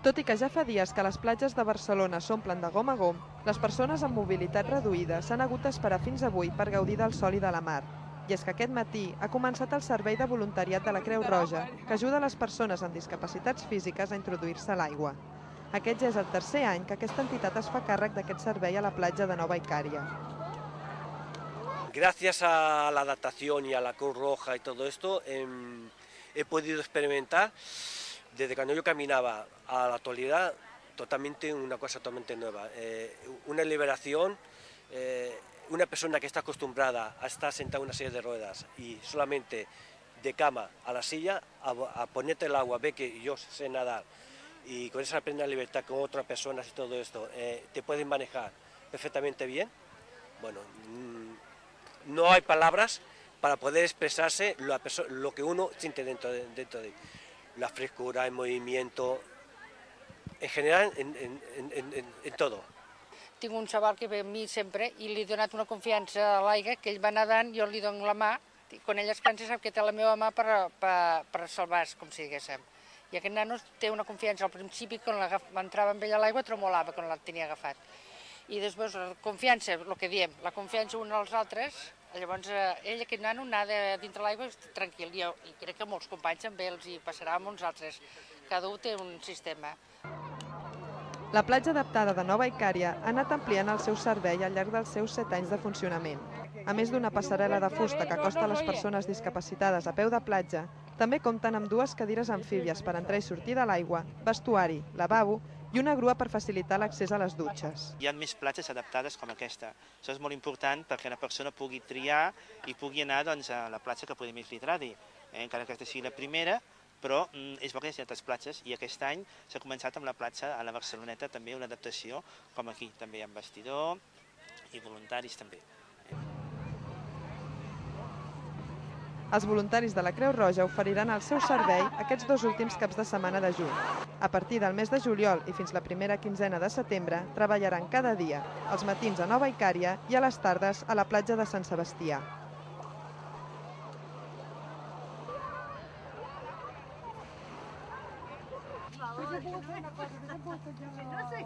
Tot i que ja fa dies que les platges de Barcelona s'omplen de gom a gom, les persones amb mobilitat reduïda s'han hagut d'esperar fins avui per gaudir del sol i de la mar. I és que aquest matí ha començat el servei de voluntariat de la Creu Roja, que ajuda les persones amb discapacitats físiques a introduir-se a l'aigua. Aquest ja és el tercer any que aquesta entitat es fa càrrec d'aquest servei a la platja de Nova Icària. Gracias a la adaptación y a la Cruz Roja y todo esto, he podido experimentar, desde cuando yo caminaba a la actualidad, una cosa totalmente nueva. Una liberación, una persona que está acostumbrada a estar sentada en una silla de ruedas y solamente de cama a la silla, a ponerte el agua, ve que yo sé nadar y con esa plena libertad con otras personas y todo esto, te pueden manejar perfectamente bien. Bueno, no hay palabras para poder expresarse lo que uno siente dentro de la frescura, el movimiento, en general, en todo. Tinc un xaval que ve amb mi sempre i li he donat una confiança a l'aigua, que ell va nedant, jo li dono la mà, i quan ell es cansa sap que té la meva mà per salvar-se, com si diguéssim. I aquest nano té una confiança al principi, quan entrava amb ell a l'aigua tremolava quan la tenia agafat. I després la confiança, el que diem, la confiança uns als altres, llavors ell, aquest nano, nada dintre l'aigua tranquil, i crec que molts companys també els hi passarà amb uns altres. Cada un té un sistema. La platja adaptada de Nova Icària ha anat ampliant el seu servei al llarg dels seus 7 anys de funcionament. A més d'una passarel·la de fusta que acosta a les persones discapacitades a peu de platja, també compten amb 2 cadires amfíbies per entrar i sortir de l'aigua, vestuari, lavabo i una grua per facilitar l'accés a les dutxes. Hi ha més platges adaptades com aquesta. Això és molt important perquè una persona pugui triar i pugui anar a la platja que pugui més li agradi. Encara que aquesta sigui la primera, però és bo que hi hagi altres platges i aquest any s'ha començat amb la platja a la Barceloneta també una adaptació, com aquí també hi ha vestidor i voluntaris també. Els voluntaris de la Creu Roja oferiran el seu servei aquests 2 últims caps de setmana de juny. A partir del mes de juliol i fins la primera quinzena de setembre treballaran cada dia, als matins a Nova Icària i a les tardes a la platja de Sant Sebastià. No sé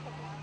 què